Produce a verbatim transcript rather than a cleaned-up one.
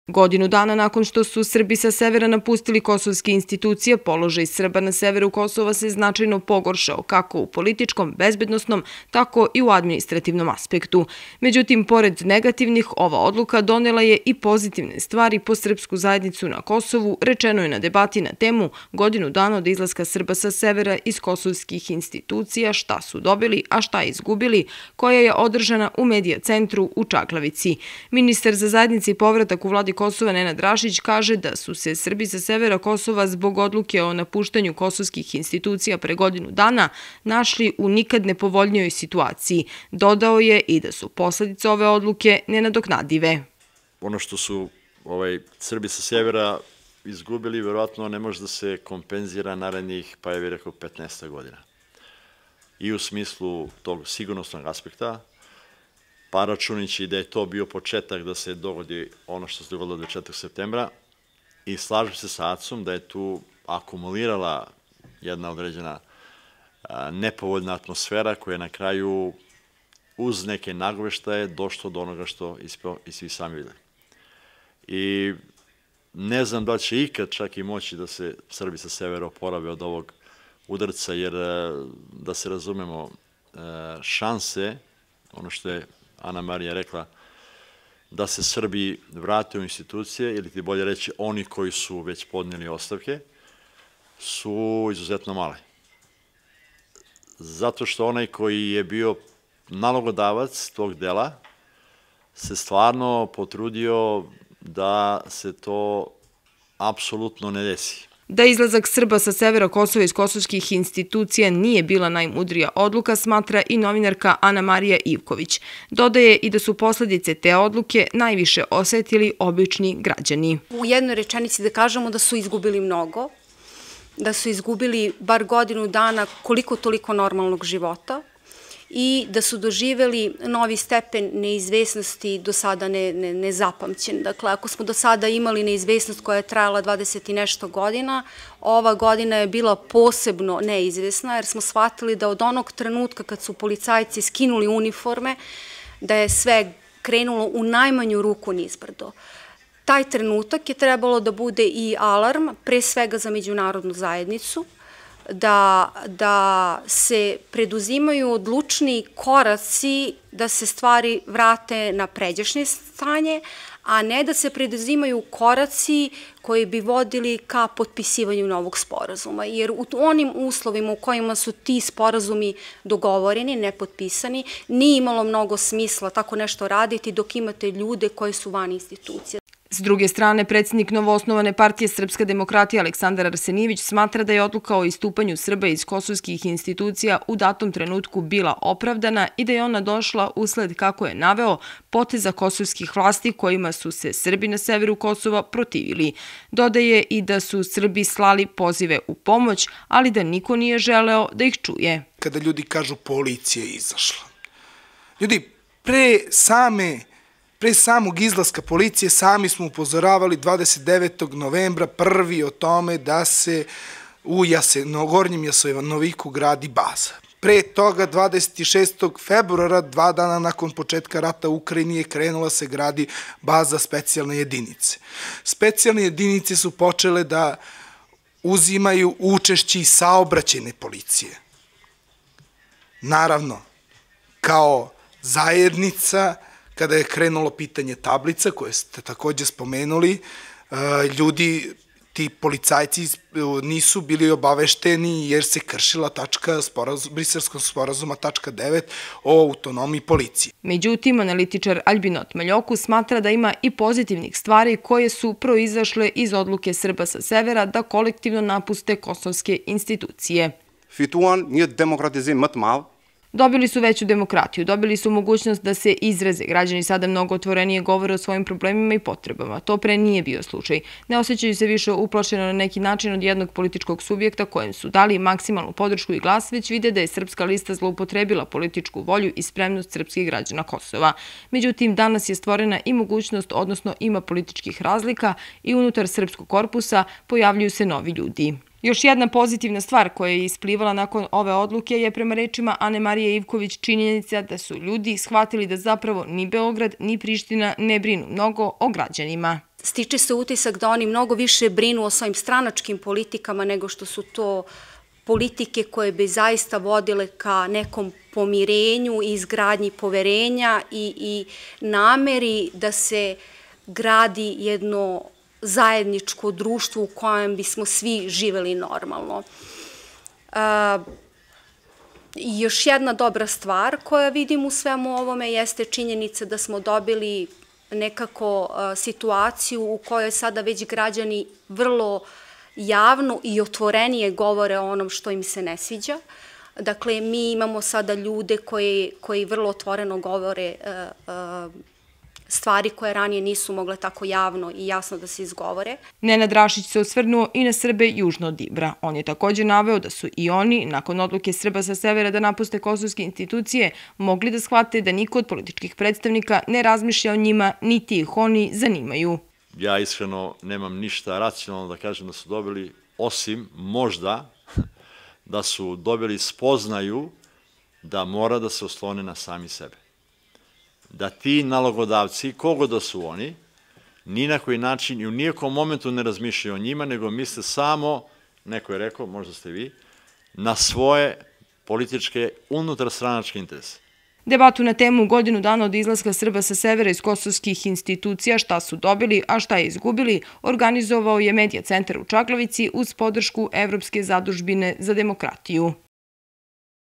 Godinu dana nakon što su Srbi sa severa napustili kosovske institucije, položaj Srba na severu Kosova se značajno pogoršao kako u političkom, bezbednosnom, tako i u administrativnom aspektu. Međutim, pored negativnih, ova odluka donela je i pozitivne stvari po srpsku zajednicu na Kosovu, rečeno je na debati na temu godinu dana od izlaska Srba sa severa iz kosovskih institucija, šta su dobili, a šta izgubili, koja je održana u Medija centru u Čaklavici. Ministar za zajednici i povratak u vladi Kosova Nenad Drašić kaže da su se Srbi sa severa Kosova zbog odluke o napuštanju kosovskih institucija pre godinu dana našli u nikad nepovoljnijoj situaciji. Dodao je i da su posledice ove odluke nenadoknadive. Ono što su ovaj, Srbi sa severa izgubili, verovatno ne može da se kompenzira narednih, pa je bih rekao, petnaest godina. I u smislu tog sigurnosnog aspekta, pa računajući da je to bio početak da se dogodi ono što se dogodilo dvadeset četvrtog septembra i slažem se sa Acom da je tu akumulirala jedna određena nepovoljna atmosfera koja je na kraju uz neke nagoveštaje došlo do onoga što i svi sami videli. I ne znam da li će ikad čak i moći da se Srbi sa severa oporave od ovog udarca, jer da se razumemo, šanse, ono što je Ana Marija rekla, da se Srbi vrate u institucije, ili ti bolje reći oni koji su već podnijeli ostavke, su izuzetno male. Zato što onaj koji je bio nalogodavac tog dela se stvarno potrudio da se to apsolutno ne desi. Da izlazak Srba sa severa Kosova iz kosovskih institucija nije bila najmudrija odluka, smatra i novinarka Ana Marija Ivković. Dodaje i da su posledice te odluke najviše osetili obični građani. U jednoj rečenici da kažemo da su izgubili mnogo, da su izgubili bar godinu dana koliko toliko normalnog života i da su doživeli novi stepen neizvesnosti do sada nezapamćen. Dakle, ako smo do sada imali neizvesnost koja je trajala dvadeset i nešto godina, ova godina je bila posebno neizvesna jer smo shvatili da od onog trenutka kad su policajci skinuli uniforme, da je sve krenulo u najmanju ruku nizbrdo. Taj trenutak je trebalo da bude i alarm, pre svega za međunarodnu zajednicu, Da, da se preduzimaju odlučni koraci da se stvari vrate na pređašnje stanje, a ne da se preduzimaju koraci koji bi vodili ka potpisivanju novog sporazuma. Jer u onim uslovima u kojima su ti sporazumi dogovoreni, nepotpisani, nije imalo mnogo smisla tako nešto raditi dok imate ljude koji su van institucija. S druge strane, predsjednik novoosnovane partije Srpska demokratija Aleksandar Arsenijević smatra da je odluka o istupanju Srba iz kosovskih institucija u datom trenutku bila opravdana i da je ona došla usled, kako je naveo, poteza kosovskih vlasti kojima su se Srbi na severu Kosova protivili. Dodaje i da su Srbi slali pozive u pomoć, ali da niko nije želeo da ih čuje. Kada ljudi kažu policija je izašla. Ljudi, pre same Pre samog izlaska policije sami smo upozoravali dvadeset devetog novembra prvi o tome da se u Gornjem Jasenoviku gradi baza. Pre toga dvadeset šestog februara, dva dana nakon početka rata u Ukrajini, je krenula se gradi baza specijalne jedinice. Specijalne jedinice su počele da uzimaju učešće i saobraćajne policije. Naravno, kao zajednica, kada je krenulo pitanje tablica, koje ste takođe spomenuli, ljudi, ti policajci nisu bili obavešteni jer se kršila tačka Briselskog sporazuma tačka devet o autonomiji policije. Međutim, analitičar Albinot Maljoku smatra da ima i pozitivnih stvari koje su proizašle iz odluke Srba sa severa da kolektivno napuste kosovske institucije. Fituan një demokratizim më të madh. Dobili su veću demokratiju, dobili su mogućnost da se izraze. Građani sada mnogo otvorenije govore o svojim problemima i potrebama. To pre nije bio slučaj. Ne osjećaju se više uplašeno na neki način od jednog političkog subjekta kojem su dali maksimalnu podršku i glas, već vide da je Srpska lista zloupotrebila političku volju i spremnost srpskih građana Kosova. Međutim, danas je stvorena i mogućnost, odnosno ima političkih razlika i unutar srpskog korpusa pojavljuju se novi ljudi. Još jedna pozitivna stvar koja je isplivala nakon ove odluke je, prema rečima Ane Marije Ivković, činjenica da su ljudi shvatili da zapravo ni Beograd ni Priština ne brinu mnogo o građanima. stiče se utisak da oni mnogo više brinu o svojim stranačkim politikama nego što su to politike koje bi zaista vodile ka nekom pomirenju i izgradnji poverenja i, i nameri da se gradi jedno zajedničko društvo u kojem bismo svi živeli normalno. Uh, još jedna dobra stvar koja vidim u svemu ovome jeste činjenica da smo dobili nekako uh, situaciju u kojoj sada već građani vrlo javno i otvorenije govore o onom što im se ne sviđa. Dakle, mi imamo sada ljude koji, koji vrlo otvoreno govore uh, uh, stvari koje ranije nisu mogle tako javno i jasno da se izgovore. Nenad Rašić se osvrnuo i na Srbe južno od Ibra. On je također naveo da su i oni, nakon odluke Srba sa severa da napuste kosovske institucije, mogli da shvate da niko od političkih predstavnika ne razmišlja o njima, niti ih oni zanimaju. Ja iskreno nemam ništa racionalno da kažem da su dobili, osim možda da su dobili spoznaju da mora da se oslone na sami sebe. Da ti nalogodavci, kogo da su oni, ni na koji način i u nijekom momentu ne razmišljaju o njima, nego misle samo, neko je rekao, možda ste vi, na svoje političke unutarstranačke interese. Debatu na temu godinu dana od izlaska Srba sa severa iz kosovskih institucija, šta su dobili, a šta je izgubili, organizovao je Medija centar u Čaglavici uz podršku Evropske zadužbine za demokratiju.